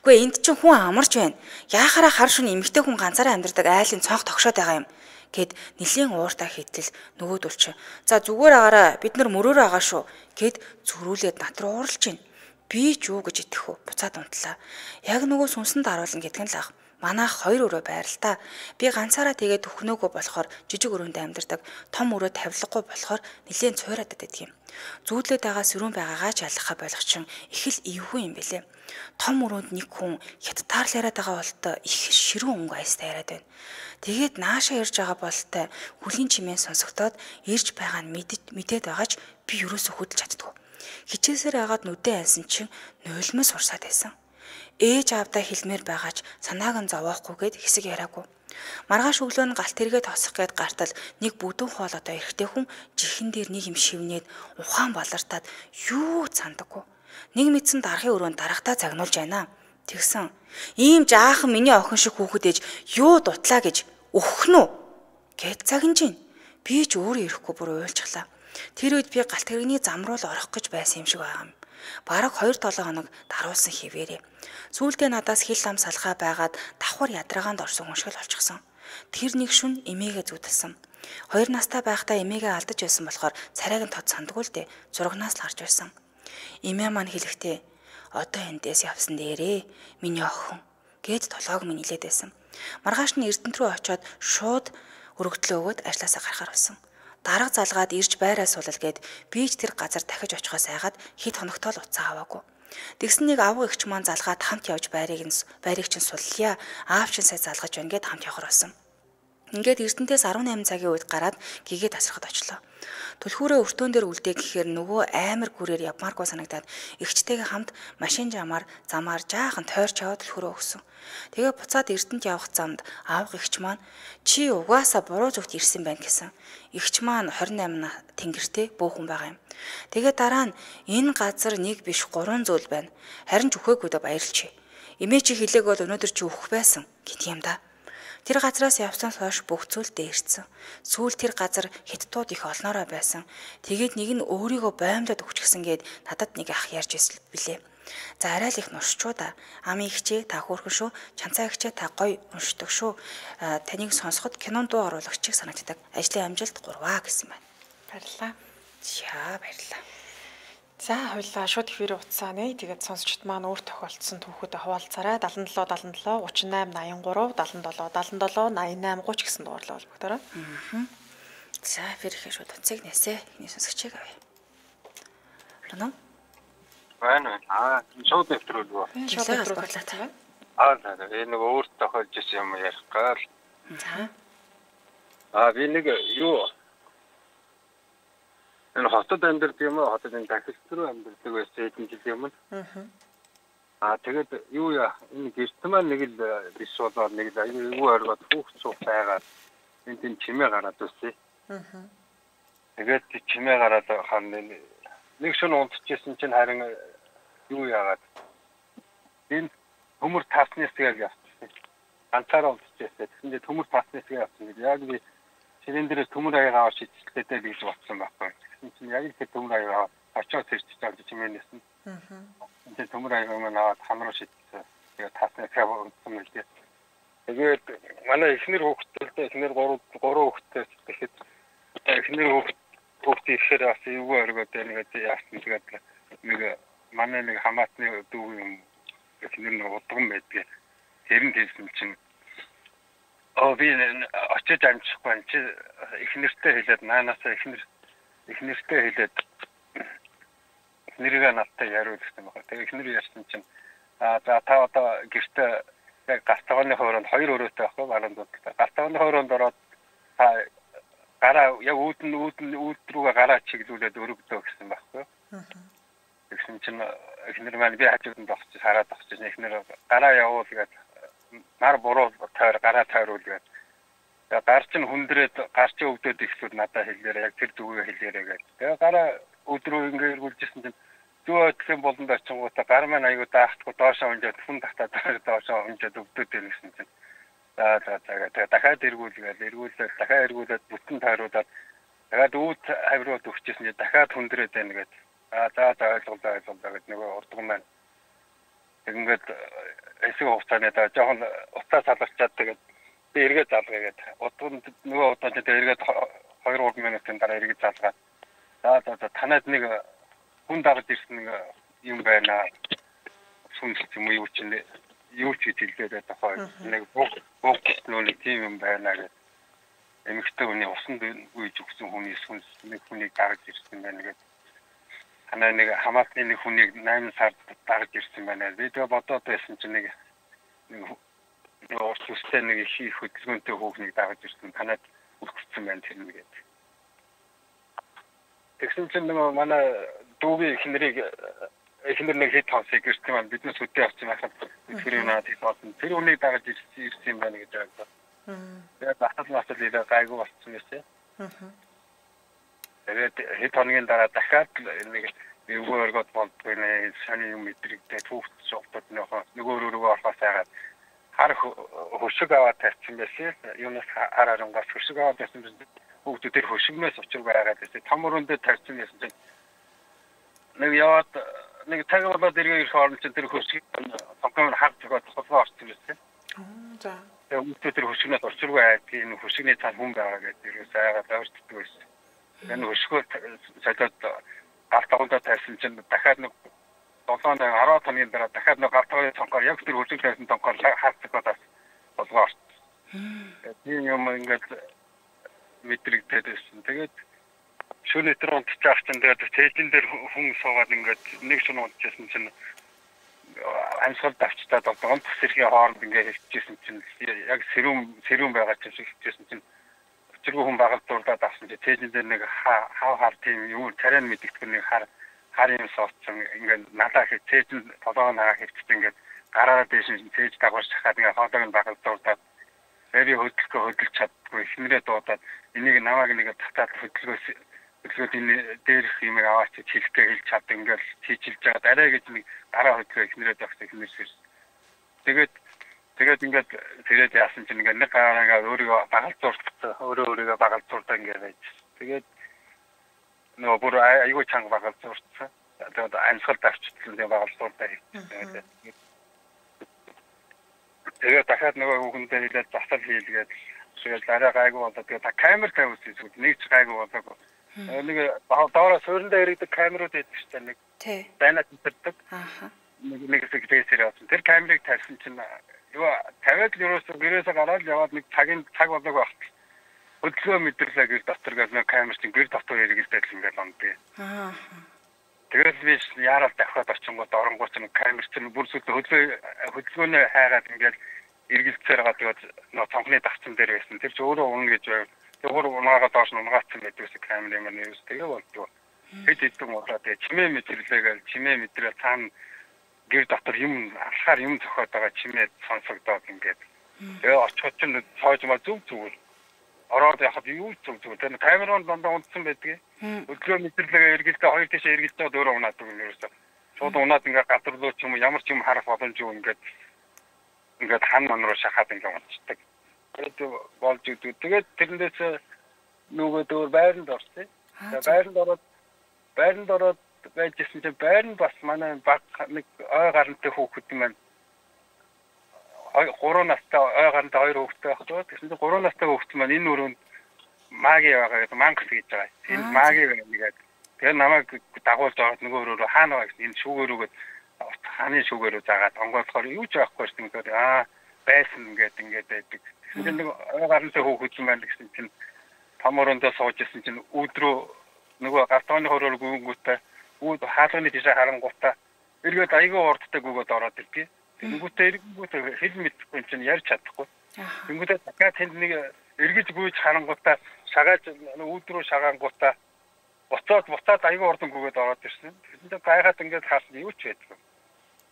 "Гүй энд чинь хүн амарч байна. Яахаараа хар шүн эмэгтэй хүн ганцаараа амьдардаг айлын цонх тогшоод байгаа юм." гэд нэлийн ууртаа хийтэл нөгөөдөл чи "За зүгээр агаараа бид нар мөрөөрөө агаа шүү" гэд зөрүүлээд над руу уурлж байна. Би ч юу гэж итгэх вэ? Буцаад унтлаа. Яг нөгөө сүнсэнд харуулна гэдг нь л ах. Манайх хоёр өрөө байрал та. Би ганцаараа тэгээд өхнөөгөө болохоор жижиг өрөөнд амьдардаг. Том өрөө тавилгагүй болохоор нэлээд цуйраад байдаг юм. Зүүдлээд байгаа сөрүүн байгаагаа ч ялахаа болгочин их л эвгүй юм бэлээ. Том өрөөнд нэг хүн хятадаар л яриад байгаа болтой их ширүүн өнгө айстай яриад байна. Тэгээд наашаа ирж байгаа болтой хүлийн чимээ сонсогдоод ирж байгаа нь мэдээд байгаач би юусоо хөдөлж чаддгүй. Хичээсээр агаад нүдэн ансан чинь нулимс урсаад байсан. Ээж аавдаа хэлмээр байгаач санааг нь зовоохгүйгээд хэсэг яриагүй. Маргааш өглөө нь галт тэргээ тосох гээд гартал нэг бүдүүн хоол одоо эрэгтэй хүн жихэн дээр нэг юм шивнээд ухаан балартаад юу цандаггүй. Нэг мэдсэн дарахын өрөөнд дарахтаа загнуулж байна. Тэгсэн ийм жаахан миний охин шиг хүүхэд ээж юу дутлаа гэж өгөх нь гэд загнаж гин. Би ч өөрөө ирэхгүй бүр уйлчихлаа. Тэр үед би галт тэрэгний зам руу л орох гэж байсан юм шиг байгаа юм. Бараг хоёр долоо хоног даруулсан хിവэрээ. Сүүлдээ надаас хил ам салгаа байгаад давхар ядраагаанд орсон хүн шиг л болчихсон. Тэр нэг шүн эмээгээ зүудэлсэн. Хоёр настай байхдаа эмээгээ алдаж байсан болохоор царайг нь тод сандгүй л дээ. Зурагнаас л харж байсан. Эмээ маань хэлэхдээ одоо эндээс явсан дээрээ миний охин гэд толгойг минь нилээд байсан. Маргааш нь Эрдэнэт рүү очиод шууд өргөдлөө өгөөд ажилласаа гарахаар болсон. Дарга залгаад ирж байраа суулал гээд би ч тэр газар дахиж очихоос айгаад хэд хоногтой л уцаа аваагүй. Тэгсэн нэг авуу эгч маань залгаад хамт явж байрыг нь байрыг чинь суллая. Аав чинь сая залгаж байна гэд хамт явахар болсон. Ингээд Эрдэнэтээс арван найман цагийн үед гараад гэгээ тасрахад очлоо. Түлхүүрээ өртөөн дээр үлдээ гэхээр нөгөө амар гүрээр явмааргүй санагдаад эгчтэйгээ хамт машин жамаар замаар жаахан тойрч яваад түлхүүрээ өгсөн. Тэгээ буцаад Эрдэнэт явах замд аав эгч маань "Чи угаасаа буруу зүгт ирсэн байна" гэсэн. Эгч маань хорин найман тэнгэртэй бөөхөн байгаа юм. Тэгээ дараа нь "Энэ газар нэг биш гурван зүйл байна. Харин ч өхөөгүйдээ баярлчээ. Эмээ чи хэлээг бол өнөөдөр чи өөх байсан" гэдэг юм да. Тэр газраас явсанаас хойш бүх зүйл дээрсэн. Сүүл тэр газар хятадууд их олноороо байсан. Тэгээд нэг нь өөрийгөө боомдод өгчихсэн гээд надад нэг ах ярьж ирсэн билээ. За арай л их нуршчуу да. Ами ихчээ та хөөрхөн шүү. Чанцаа ихчээ та гоё уншдаг шүү. Таныг сонсоход кинон дуу оруулагчийг санагддаг. Ажлын амжилт гурваа гэсэн байна. Баярлалаа. За баярлалаа. За хоёлаа шууд хэвээр утсаа нэ. Тэгээд сонсогчд маань өөр тохиолдсон түүхүүдэд хуваалцаарай. seven seven seven seven eight nine eighty-three seven seven seven eighty-seven eighty-eight thirty гэсэн дуурлаа холбогдорой. Аа. За хэрэг шууд утсыг нээсэ. Эхний сонсогчийг авъя. Лоноо. Байна. Аа, шууд нэвтрүүлгөө. Шууд нэвтрүүлээ таа. Аа, энэ нэг өөр тохиолж ирсэн юм ярих гал. За. Аа, би нэг юу энэ хотод амьдардаг юм уу? Хотод энэ дахилт руу амьдардаг байсан хэдэн жил юм. Аа. Аа, тэгээд юу яа, энэ гэрт маань нэг л биш болоод нэг л аюу оргоод хүүхд цуг байгаад энэ тийм чимээ гараад үсэ. Аа. Тэгээд чимээ гараад хань нэг шөнө унтчихсэн чинь харин юу яагаад энэ төмөр тасны хэсгээр явчихсан. Ганцаараа унтчихсан. Тэгсэндээ төмөр тасны хэсгээр явсан гэдэг. Яг би ширэн дээрээс төмөр аягаа аваад шидэлтэй гэж бодсон байхгүй. Тэгсэн чинь яг л төмөр аягаа очоод тэрчиж байгаа чимээнээс нь. Аа. Тэгээд төмөр аягаа маань аваад хамруу шидэлсэн. Тэгээд тасны хэсгээр унтсан юм л дээ. Тэгээд манай эхнэр хүүхдтэй эхнэр гурав гурав хүүхдтэй тэгэхэд эхнэр хүүхд хүүхд ихээр бас юу оргоод нэг яасан тэгээд нэг манай нэг хамаатны дүү юм эхнэр нэг удган байдгийг Тэрэн хэлсэн чинь оо би очиж амжихгүй энэ чи их нэртэй хэлээд наанасаа их нэр их нэртэй хэлээд нэргээ надтай яриул гэсэн байна. Тэгээ их нэр ярьсан чинь а за та одоо гэртээ яг гартагны хооронд хоёр өрөөтэй байхгүй баруун дутаа. Гартагны хооронд ороод та гараа яг үүдэн үүдэн үүд рүүгээ гараа чиглүүлээд өргөдөө гэсэн байхгүй. Тэгсэн чинь их нэр маань би хажууд нь тогтчих хараад тогтчих их нэр гараа явуул гэдэг нар буруу тойр гараа тойруул гэдэг. Тэгээ гар чинь хүндрээд гар чинь өвдөд ихсүүд надад хэлээрээ яг тэр зүгээ хэлээрээ гэдэг. Тэгээ гараа өдрөө ингээ эргүүлжсэн чинь зөө өдлийн болонд очингуудаа гар маань аягүй даахгүй доошоо унжаад хүн татаад доошоо унжаад өвдөд байна гэсэн чинь. За за за тэгээ дахиад эргүүлгээл эргүүлээд дахиад эргүүлээд бүтэн тойруулаад дахиад үүд хаврууд өгчээсэн чинь дахиад хүндрээд байна гэдэг. А за за ойлголоо ойлголоо гэдэг нөгөө урдган маань. Ингээд эсэг хугацааны даа жоохон утаа салгачаад тэгээд би эргээд залгая гэдэг. Удганд нөгөө удаад тэгээд эргээд хоёр гурван минутын дараа эргээд залгаад. За за за танад нэг хүн дагаж ирсэн нэг юм байна. Сүнслэг юм уу юу ч нэ юу ч хэлээд тохой. Нэг бүх бүх нөө тийм юм байна гэдэг. Эмэгтэй хүний усанд үйж өгсөн хүний сүнс нэг хүнийг дагаж ирсэн байна гэдэг. Ханаа нэг хамаатны нэг хүнийг найман сард дагаж ирсэн байна. Би тэгээ бодоод байсан чинь нэг нэг урт үстэй нэг их хөдөлгөөнтэй хүүхнийг дагаж ирсэн. Танад үлдсэн байна тэр нэгэд. Тэгсэн чинь нэг манай дүүгийн эхнэрийг эхнэр нэг хэд хонсыг гэртээ маань биднес үдээ авчих байхад тэр юм надад хэлсэн. Тэр хүнийг дагаж ирсэн юм байна гэж байгаа. Тэгээд батал батал ирээ гайгүй болчихсон гэсэн. Аа. Тэгээд хэд хоногийн дараа дахиад нэг өгөөргөд болдгоо нэ шаны юм мэдрэгдээ түүхт шоктод нөхөө нөгөө рүүгээ орохоос яагаад хар хөшиг аваад тавьсан байсан. Юунаас хар харангаас хөшиг аваад тавьсан бүгд тэр хөшигнээс учир байгаад байсан. Том өрөөндөө тавьсан байсан чинь нэг яваад нэг цаг болоод иргээ ирэх орон чинь тэр хөшиг цонхоор харж байгаа тохиолдол орсон байсан. За. Тэгээд тэр хөшигнээс учиргүй айдгийн энэ хөшигний цаана хүн байгаа гэдэг ерөөс айгаад ойртдог байсан. Энэ хөшгөө цаадад гартагуудаа тавьсан чинь дахиад нэг долоон арван хоногийн дараа дахиад нэг гартагын цонхоор яг тэр хөшиг тавьсан цонхоор хаарцаг бодож болгоо орсон. Тийм юм ингээд мэдрэгдээд байсан. Тэгээд шөнө өдөр унтчих чинь тэгээд тээжин дээр хүн суугаад ингээд нэг шөнө унтчихсан чинь амьсгал давчтаад одоо онц сэрхийн хооронд ингээд хэвчээсэн чинь яг сэрүүн сэрүүн байгаа чинь хэвчээсэн чинь өчргөө хүн багт дурдаад авсан чинь тээжин дээр нэг хав хар тийм юу царай мэдэгдэх нэг хар хар юм суудсан ингээд надаа хэ тээжин толгоо нараа хэвчээд ингээд гараараа дэш тээж дагуулж хахад ингээд хоолойг нь багт дурдаад би хөдөлгөө хөдөлж чаддгүй эхнэрээ дуудаад энийг намайг нэг татаад хөдөлгөөс хөдөлгөөд энэ дээрх юмыг аваач хэлэхдээ хэлж чад ингээд хийжилж байгаа арай гэж нэг гараа хөдөлгөө эхнэрээ дагч эхнэрээс тэгээд тэгээд ингээд тэрээд яасан чинь ингээд нэг гараагаа өөрийгөө багалзууртаа өөрөө өөрийгөө багалзууртаа ингээд байж тэгээд нөгөө бүр айгүй чанга багалзууртаа тэгээд амьсгал давчтлан тэгээд багалзууртаа хийсэн тэгээд дахиад нөгөө хүнтэй хэлээд засал хийлгээд тэгээд арай гайгүй болоо тэгээд та камер тавьсан эсвэл нэг ч гайгүй болоогүй нэг доороо суурьндаа иргэдэг камерууд байдаг шүү дээ нэг тий дайнаа тэмдэрдэг ааха нэг нэг секретээр явсан тэр камерыг тавьсан чинь юу тавиад л ерөөсөө гэрээсээ гараад яваад нэг цагийн цаг болоогүй багт хөдөлгөөн мэдэрлээ гэр дотор гэж нэг камер чинь гэр дотор иргэлдээд л ингээд ондээ ааха тэгэл би яарал давхад очингууд оронгууд чинь камер чинь бүр сүлд хөдөлгөө хөдөлгөөний хайгаад ингээд эргэлцээр байгаа тэгээд нөө цонхны давцсан дээр байсан тэр ч өөрөө унна гэж байв тэр унаагаа доош нь унгаацсан байдгүйс камер юм нэрс тэгээ болдгоо хэд хэдэн удаа тэгээ чимээ мэдэрлээгээл чимээ мэдрээ цаана гэр дотор юм алхаар юм зохиод байгаа чимээ сонсогдоод ингээд тэгээ очиход чинь цоож маа зүг зүгээр ороод яхад юу зүг зүг тэр камерон дондоо унтсан байдгийг өглөө мэдэрлэгээ эргэлдээ хоёр тишээ эргэлдээд өөрөө унаадаг юм ерөөсөө шууд унаад ингээд гадарлуу ч юм ямар ч юм харах боломжгүй ингээд ингээд хан ман руу шахаад ингээд унцдаг тэгээд болж идэв тэгээд тэрнээс нөгөө дөр байранд орсон байранд ороод байранд ороод байжсэн чинь байранд бас манай баг нэг ой гарантай хүүхэд юм байна гурван настай ой гарантай хоёр хүүхэдтэй байхгүй тэгсэн чинь гурван настай хүүхэд маань энэ өрөөнд маги байгаа гэдэг мангас гэж байгаа энэ маги гэдэг тэгээ намайг дагуулж аваад нөгөө өрөөрөө хаана байгаа гэсэн энэ шүүгээрүүгээд хааны шүүгээрөө заагаад онгоолохоор юу ч байхгүй шүү дээ аа байсан ингээд ингээд байдаг. Тэгэхээр нэг гарантай хөөхөж юм байна гэсэн чинь таморондоо сууж исэн чинь өөдрөө нөгөө гартооны хороор гүнгүүтээ үүд хаалганы тийш харангуутаа эргээд айгүй урдтай гүгөөд ороод ирдээ. Тэнгүүтээ эргүүтээ хэл мэдхгүй чинь ярьж чадахгүй. Тэнгүүтээ дахиад тэнд нэг эргэж гүйж харангуутаа шагааж өөдрөө шагаангуутаа буцаад буцаад айгүй урдан гүгөөд ороод ирсэн. Тэндээ гайхаад ингээд хаалт юу ч байдгүй.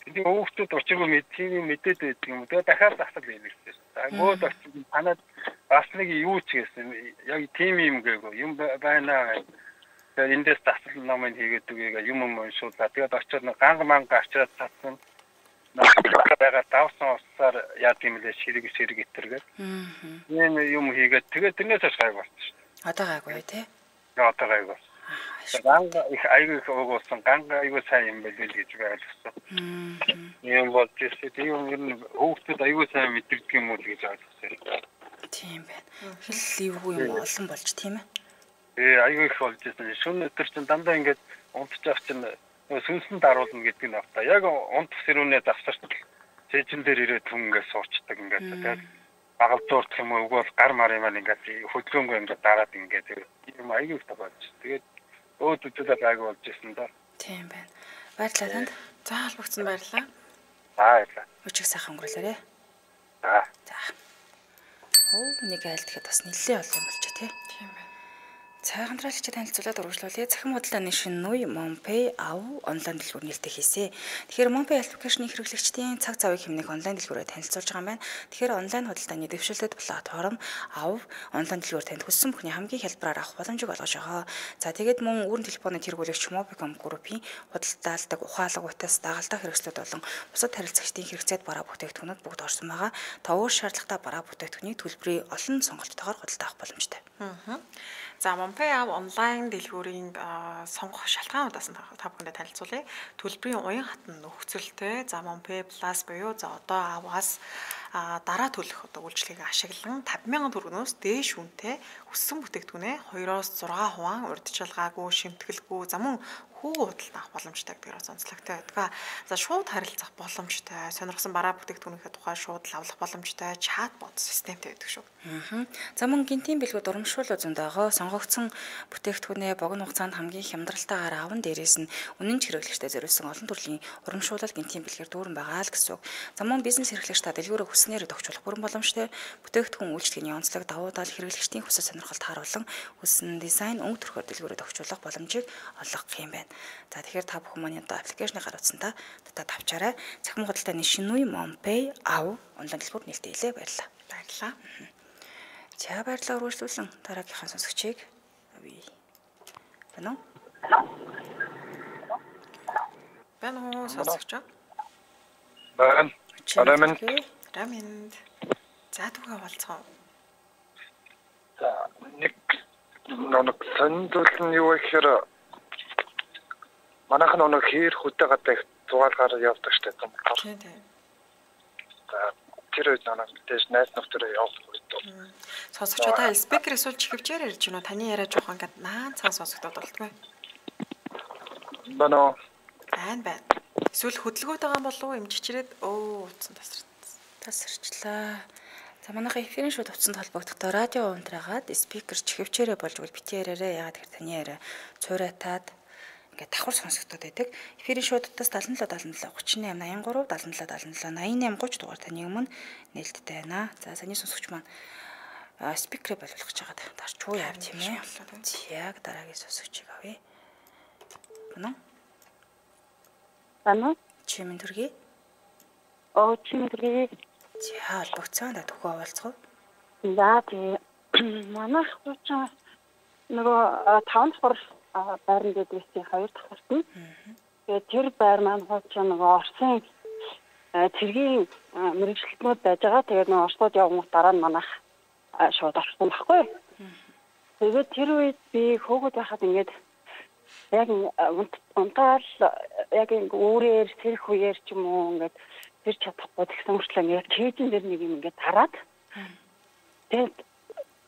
Тэндээ өвгчүүд учиргүй мэдээ мэдээд байдаг юм. Тэгээ дахиад засал хийлээ. Агууд очиж танад бас нэг юу ч гэсэн яг тийм юм гээгүй юм байна. Тэгээд эндээс засал намын хийгээд үгээ юм юм уншууллаа. Тэгээд очиод ганга манга авчираад татсан. Нагаа давсан усаар яа тийм лээ ширэг ширэг итэргээд. Ийм юм хийгээд тэгээд тэрнээс хойш гайг болчихсон. Одоо гайгүй тий. Одоо гайг бол. Ганга их айгүй өгөөсөн ганга айгүй сайн юм байл гэж ойлгосон. Ийм бол тийм юм хөөхдөд айгүй сайн мэдэрдэг юм уу гэж ойлгосон. Тийм байна. Хэл эвгүй юм олон болж тийм ээ. Ээ айгүй их болж байсан. Шөнө өдөр чинь дандаа ингээд унтж авах чинь сүнсэн даруулна гэдэг нь авта. Яг унт сэрүүнээ завсарт цэжин дээр ирээд хүн ингээд суучдаг ингээд тэгээд багал зуурдах юм уу угуул гар мар юм ингээд хөдөлгөөнгөө ингээд дараад ингээд юм айгүй их болж. Тэгээд өөд үдээд айгүй болж ирсэн да. Тийм байна. Баярлалаа танд. За албагцсан баярлалаа. Баярлалаа. Өчиг сайхан өнгөрүүлээрэ. За. За. Оо нэг айлтгэхэд бас нэлээд олон юм болчих тий. Тийм байна. Цайхан хамтраалагчид танилцуулаад урагшлуулъя. Цахим худалдааны шинэ нүй MonPay ав онлайн дэлгүүр нээлттэй хийсэн. Тэгэхээр MonPay аппликейшний хэрэглэгчдийн цаг завыг хэмнэх онлайн дэлгүүрээр танилцуулж байгаа юм байна. Тэгэхээр онлайн худалдааны дэвшилтэд платформ ав онлайн дэлгүүр танд хүссэн бүхний хамгийн хялбараар авах боломжийг олгож байгаа. За тэгээд мөн өрн телефоны тэргүүлэгч Mobicom Group-ийн худалдаалдаг ухаалаг утас дагалдах хэрэгслүүд болон бусад харилцагчдын хэрэгцээд бараа бүтээгдэхүүнүүд бүгд орсон байгаа. Та өөр шаардлагатай бараа бүтээгдэхүүнийг төлбөрийн олон сонголттойгоор худалдаа авах боломжтой. Аа. За MonPay ав онлайн дэлгүүрийн сонгох шалтгаануудаас нь та бүхэндээ танилцуулъя. Төлбөрийн уян хатан нөхцөлтэй. За MonPay Plus буюу за одоо аваас дараа төлөх одоо үйлчлэгийг ашиглан тавь мянган төгрөгнөөс дээш үнэтэй өссөн бүтээгдэхүүнээ хоёроос зургаан хувиан урьдчилгаагүй, шимтгэлгүй, за мөн хүү худалдаа авах боломжтой гэдгээр онцлогтой байдаг. За шууд харилцах боломжтой, сонирхсан бараа бүтээгдэхүүнийхээ тухай шууд авлах боломжтой чатбот системтэй байдаг шүү. Аа. За мөн гинтийн бэлгүүд урамшуул үзэнд байгаа сонгогдсон бүтээгдэхүүнээ богино хугацаанд хамгийн хямдралтайгаар аван дээрээс нь үнэн хэрэглэгчтэй зориулсан олон төрлийн урамшуулал гинтийн бэлгээр дүүрэн байгаа л гэсэн үг. За мөн бизнес хэрэглэгч та дэлгүүрээ хүснээр тохиолох бүрэн боломжтой бүтээгдэхүүн үйлчлэгийн онцлог давуу тал хэрэглэгчдийн хүсэл сонирхолд харуулсан хүссэн дизайн өнгө төрхөөр дэлгүүрээ тохиолох боломжийг олгох юм байна. За тэгэхээр та бүхэн манай одоо аппликейшнийг гаргацсан та татаад авчаарай. Цахим худалдааны шинэ үе MonPay ав онлайн дэлгүүр нээлттэй хэлээ баярлалаа. Баярлалаа. За баярлалаа үргэлжлүүлэн дараагийнхаа сонсогчийг авъя. Байна уу? Байна уу сонсогч? Байна. Арамын. Арамын. За түгээ болцгоо. За нэг нэг сандлын юу гэхээр манайх нэг хээр хөдөө гадаа зугаалгаар явдаг штэ юм. Тийм тийм. За тэр үед нэг дэш найз нөхдөд явах үед. Сонсогчдаа спикер эсвэл чихвчээр ярьж гинөө таны яриа жоох ингээд наан цаа сонсогдоод болтгоо. Бано. Байн байн. Эсвэл хөдөлгөөд байгаа болов уу эмчичрээд өө утсан тасарсан. Тасарчлаа. За манайхаа эфирийн шууд утсанд холбогдохдоо радио унтраагаад спикер чихвчээрээ болж үл бити яриараа яагаад гэхээр таны яриа цуурайтаад ингээд давхар сонсогдоод байдаг. Эфирийн шуудтаас seven seven seven three eight nine three seven seven seven eight eight three дугаар таны өмнө нээлттэй байна. За саний сонсогч маань спикерээ болгох гэж байгаа. Дарч уу яав тийм ээ. Яг дараагийн сонсогчийг авъя. Бано? Бано? Чимэн төргий? Оо чимэн төргий. За албагцаан да төгөө овалцгоо. За тий. Манайх хуучаа нөгөө таван давхар байран дээр байсан хоёр давхарт нь. Тэгээд тэр байр маань хуучаа нөгөө Орсын цэргийн мэрэгчлэтнүүд байж байгаа. Тэгээд нөгөө Орсууд явган дараа нь манайх шууд орсон байхгүй. Тэгээд тэр үед би хөөгд байхад ингээд яг унтаал яг өөрөөр сэрх үеэр ч юм уу ингээд тэр чадахгүй тэгсэн мөртлөө ингээд кейжин дээр нэг юм ингээд тараад тэгээд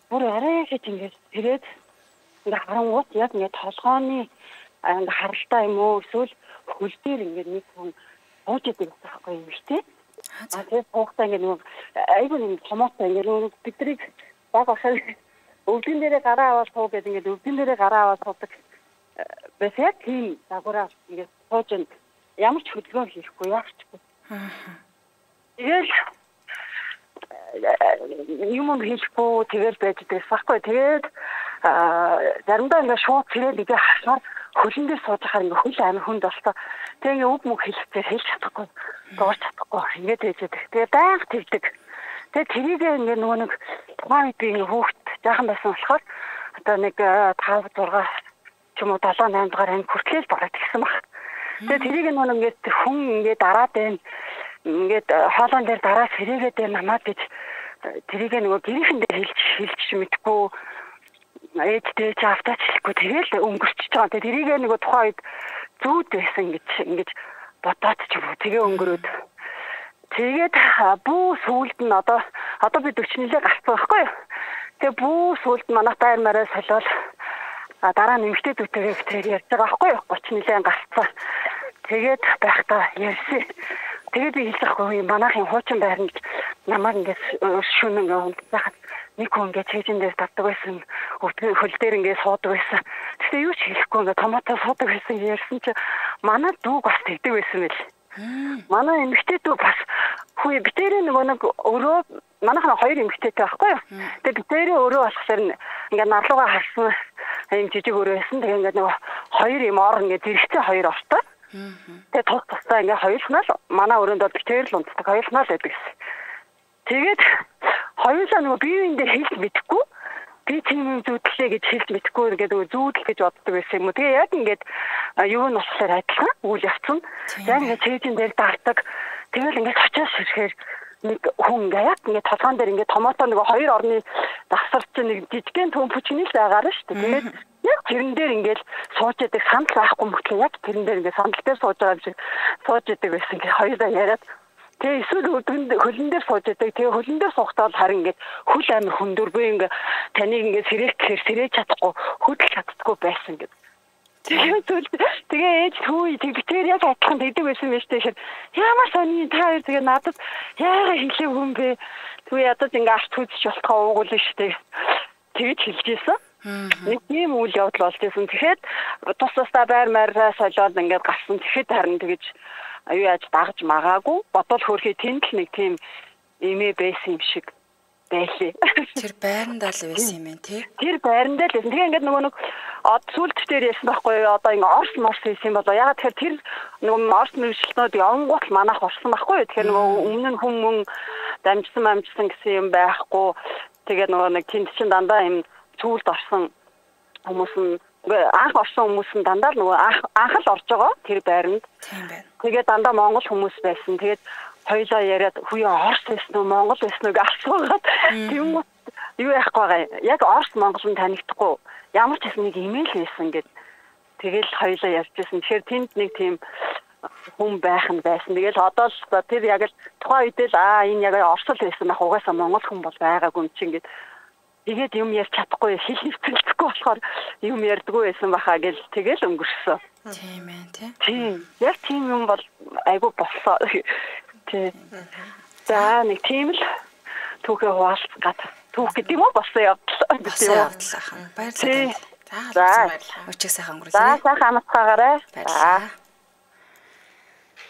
бүр арай хийж ингээд тэгээд ингээд харангуут яг ингээд толгооны ингээд харалтай юм уу эсвэл хөлбөр ингээд нэг хүн бууж идэг байхгүй юм шүү дээ. А тэгээд хугацаа ингээд нэг айгүй нэг томоотой ингээд бидний баг ахаар өвдөн дээрээ гараа аваад суу гэдэг ингээд өвдөн дээрээ гараа аваад суудаг. Бас яг тийм загвараа ингээд сууж ямар ч хөдөлгөөн хийхгүй яахчгүй. Тэгэл юм хийхгүй тэгэл байж дээсахгүй. Тэгээд заримдаа ингээд шууд цэрэл игээ хасаар хөлн дээр сууж байхаар ингээд хөл амир хүнд болсоо. Тэгээ ингээд үг мөх хэлэхдээ хэлж чадахгүй. Дуурч чадахгүй. Ингээд ээжэдэг. Тэгээ байнга тэгдэг. Тэгээ тэрийг ингээд нөгөө нэг тухайн үед би ингээд хүүхд жаахан байсан болохоор одоо нэг five six ч юм уу seven eight дахь анги хүртэл бараад гисэн баг. Тэгээ тэрийг нөгөө ингээд хүн ингээд дараад байна. Ингээд хоолон дээр дараад хэрэгэд байна намаад гэж тэрийг нөгөө гэрийнхэн дээр хэлж хэлж мэдгүй ээжтэй ч автаач хэлэхгүй тэгэл өнгөрчихөж байгаа. Тэгээ тэрийг нөгөө тухайн үед зүүд байсан гэж ингэж бодоод ч юм уу тэгээ өнгөрөөд тэгээд бүү сүулт нь одоо одоо би forty нэлээ гарсан байхгүй юу. Тэгээ бүү сүулт манайх байр мараа солиол дараа нь эмэгтэйдүүдтэйгээ тэр ярьж байгаа байхгүй юу. thirty нэлээ гарсан. Тэгээд байхдаа ярьсан. Тэгээд би хэлэхгүй манайхын хуучин байранд намайг ингээд шүн ингээд унтсахад нэг хүн ингээд чэжин дээр татдаг байсан. Өвдгөн хөл дээр ингээд суудаг байсан. Тэгтээ юу ч хэлэхгүй ингээд томатоо суудаг байсан ярьсан чи манай дүү бас тэгдэг байсан мэл. Манай эмэгтэй дүү бас хүү битэрээ нөгөө нэг өрөө манайхаа хоёр эмэгтэйтэй байхгүй юу. Тэгээд битэрээ өрөө болохоор ингээд нарлуугаа харсан юм жижиг өрөө байсан. Тэгээд ингээд нөгөө хоёр юм ор ингээд зэрэгцээ хоёр ортой. Тэгээ тус тустай ингээ хоёулнаа л манай өрөөнд бол битээр л унтдаг хоёулнаа л байдаг гэсэн. Тэгээд хоёулаа нөгөө биеийн дээр хэлж мэдэхгүй би тийм зүудлээ гэж хэлж мэдэхгүй ингээд зүүдэл гэж боддог байсан юм уу. Тэгээ яг ингээд юу нь болохоор адилхан үйл явцсан. Яг ингээд чэйжин дээр дартаг. Тэгэл ингээд очиос ирэхээр нэг хүн ингээ яг ингээ толгоон дээр ингээ томатоо нөгөө хоёр орны дасарч нэг жижигхэн төмпөчнийс байгаараа шүү дээ. Тэгээд яг тэрэн дээр ингээл сууж яадаг сандал байхгүй мөртлөө яг тэрэн дээр ингээ сандал дээр сууж байгаа юм шиг сууж яадаг байсан. Ингээ хоёроо яриад тэгээ эсвэл өдгөнд хөлн дээр сууж яадаг. Тэгээ хөлн дээр суухдаа харин ингээ хөл амир хөндөр бөө ингээ таныг ингээ сэрэх гэхээр сэрэж чадахгүй хөдөлж чаддаггүй байсан гэдэг. Тэгээ ээж түү тэгтэр яг адилхан тэгдэг байсан байж тээ. Ямар сони та хоёр тэгээ надад яагаад хэлээ хүн бэ? Түү ядаж ингээ арт үзэж болохоо уугуул штэ. Тэгэж хэлж ийсэн. Нэг тийм үйл явдал болж байсан. Тэгэхэд тус тусдаа байр маараа солиод ингээд гарсан. Тэгэхэд харин тэгэж юу яаж дагаж магаагүй. Бодвол хөрхий тэнд л нэг тийм эмээ байсан юм шиг байлээ. Тэр байрандаа л байсан юм ээ тий. Тэр байрандаа л байсан. Тэгээ ингээд нөгөө нэг од сүлд дээр яасан байхгүй юу? Одоо ингээ орс морс хийсэн болоо. Ягаад тэгэхээр тэр нөгөө орс мөрчлөлтүүд онгот манах орсон байхгүй юу? Тэгэхээр нөгөө өмнө нь хүмүүс дамжсан амжсан гэсэн юм байхгүй. Тэгээ нөгөө нэг тэнд чин дандаа юм сүлд орсон хүмүүс нь анх орсон хүмүүс нь дандаа л нөгөө анх л орж байгаа тэр байранд. Тийм байна. Тэгээ дандаа монгол хүмүүс байсан. Тэгээд хоёлаа яриад хүйе орс байсан уу монгол байсан уу гэж асуугаад тийм үү юу яах байгаа. Яг орс монгол нь танигдахгүй. Ямар ч хэсэг нэг имэйл хийсэн гэд тэгэл хоёлаа ярьжсэн. Тэгэхээр тэнд нэг тийм хүн байх нь байсан. Тэгэл одоо л тэр яг л тухайн үед л аа энэ яг орсол байсан ах угаасаа монгол хүн бол байгаагүй юм чинь гэд тэгээд юм ярьж чадахгүй хэл хэлцэлдэхгүй болохоор юм ярьдаггүй байсан баха гэл тэгэл өнгөрсөн. Тийм ээ тий. Тийм. Яг тийм юм бол айгу болсоо. Тий. За нэг тийм л түүхээ хуваалцгаад түүх гэдэг юм уу болсон явдал. Болсон явдал ахын. Баярлалаа. За баярлалаа. Өчиг сайхан өнгөрүүлээ. За сайхан амтгаагаарай. За.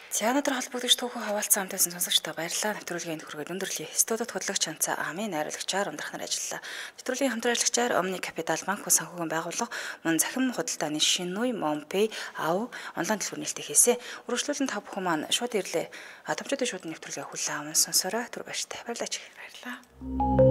Театр холбогдогч түүхээ хаваалцсан хамтайсан сонсогчдоо баярлалаа. Нэвтрүүлгийн хүргээд өндөрлөе. Студид хөтлөгч Чанца Амын найруулагчаар ундрах нар ажиллалаа. Нэвтрүүлгийн хамтран ажиллагчаар Omni Capital банк санхүүгийн байгууллага мөн захим худалдааны Шинүй Монпэй ав онлайн дэлгүүр нээлттэй хийсэн. Үргэлжлүүлэн та бүхэн маань шууд ирлээ. Томчуудын шууд нэвтрүүлгээ хүлээн аван сонсороо түр баяртай. Баярлалаа. Баярлалаа.